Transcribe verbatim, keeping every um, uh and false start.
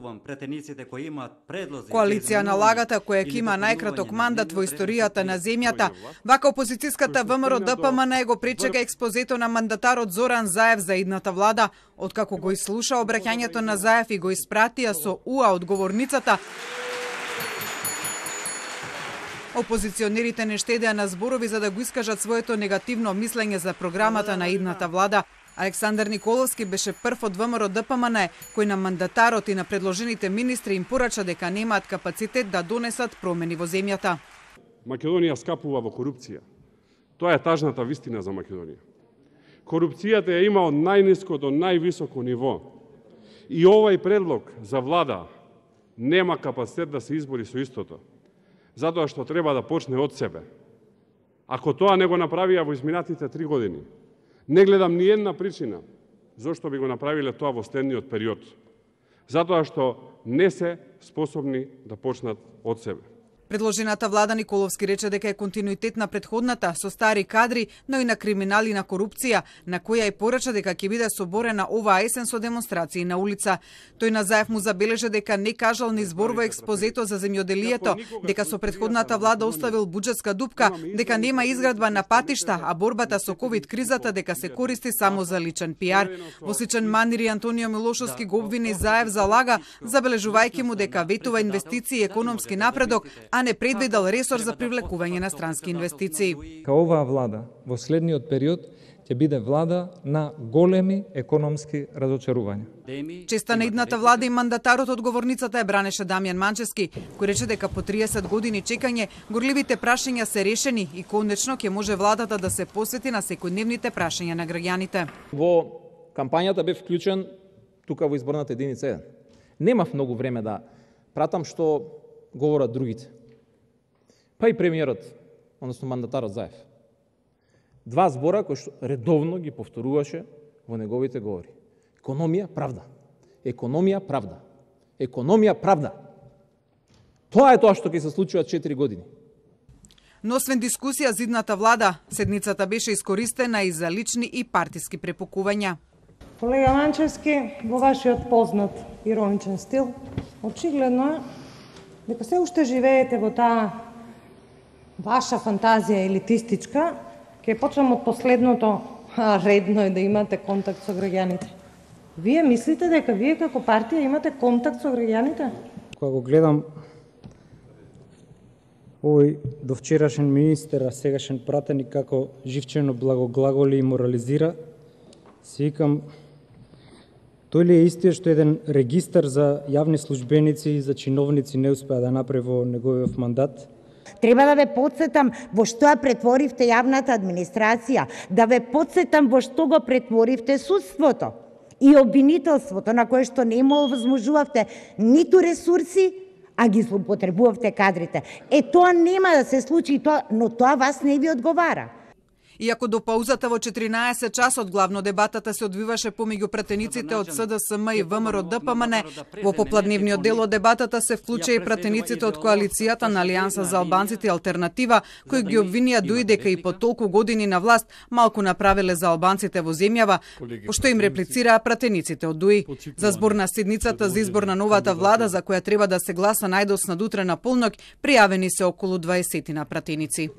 поздравувам претениците кои имаат предлози. Коалиција на лагата која ќе има најкраток мандат во историјата на земјата, вака опозицијската ВМРО Д П М Н го пречека експозето на мандатарот Зоран Заев за идната влада, откако го изслуша обраќањето на Заев и го испратија со уа одговорницата. Опозиционерите не штедеа на зборови за да го искажат своето негативно мислење за програмата на идната влада. Александар Николовски беше прв од ВМРО Д П М Н кој на мандатарот и на предложените министри им порача дека немаат капацитет да донесат промени во земјата. Македонија скапува во корупција. Тоа е тажната вистина за Македонија. Корупцијата ја има од најниско до највисоко ниво. И овај предлог за влада нема капацитет да се избори со истото. Затоа што треба да почне од себе. Ако тоа не го направија во изминатите три години, не гледам ни една причина зошто би го направиле тоа во следниот период. Затоа што не се способни да почнат од себе. Предложената влада Николовски рече дека е континуитет на претходната со стари кадри, но и на криминали и на корупција, на која и порача дека ќе биде соборена оваа есен со демонстрации на улица. Тој на Заев му забележа дека не кажал ни збор во експозето за земјоделието, дека со претходната влада оставил буџетска дупка, дека нема изградба на патишта, а борбата со ковид кризата дека се користи само за личен пиар. Во сличен манир и Антонио Милошовски го обвини Заев за лага, забележувајќи му дека ветува инвестиции и економски напредок, а не предвидел ресор за привлекување на странски инвестиции. Ка оваа влада во следниот период ќе биде влада на големи економски разочарувања. Честа на идната влада и мандатарот одговорницата е бранеше Дамјан Манчевски, кој рече дека по триесет години чекање горливите прашања се решени и конечно ќе може владата да се посвети на секојдневните прашања на граѓаните. Во кампањата бев вклучен тука во изборната единица еден. Немав многу време да пратам што говорат другите. Па и премиерот, односно мандатарот Заев. Два збора кои што редовно ги повторуваше во неговите говори. Економија, правда. Економија, правда. Економија, правда. Тоа е тоа што ќе се случува четири години. Но освен дискусија за идната влада, седницата беше искористена и за лични и партиски препукувања. Колега Манчевски, во вашиот познат ироничен стил, очигледно е дека се уште живеете во таа ваша фантазија елитистичка. Ќе почнам од последното, а редно е да имате контакт со граѓаните. Вие мислите дека вие како партија имате контакт со граѓаните? Кога го гледам овој довчерашен министер, а сегашен пратеник како живчено благоглаголи и морализира, си викам, тој ли е истиот што еден регистар за јавни службеници и за чиновници не успеа да направи во неговиот мандат? Треба да ве подсетам во што ја претворивте јавната администрација, да ве подсетам во што го претворивте судството и обвинителството, на кое што не му овозможувавте ниту ресурси, а ги злоупотребувавте кадрите. Е, тоа нема да се случи, тоа, но тоа вас не ви одговара. Иако до паузата во четиринаесет часот главно дебатата се одвиваше помеѓу пратениците од С Д С М и В М Р Д П М Н, во попладневниот дел од дебатата се вклучи и пратениците од коалицијата на Алијанса за албанците и Алтернатива, кои ги обвинија дуи дека и по толку години на власт малку направиле за албанците во земјава, пошто им реплицираа пратениците од ДУИ. За збор на седницата за избор на новата влада, за која треба да се гласа најдосна утре на полнок, пријавени се околу дваесет пратеници.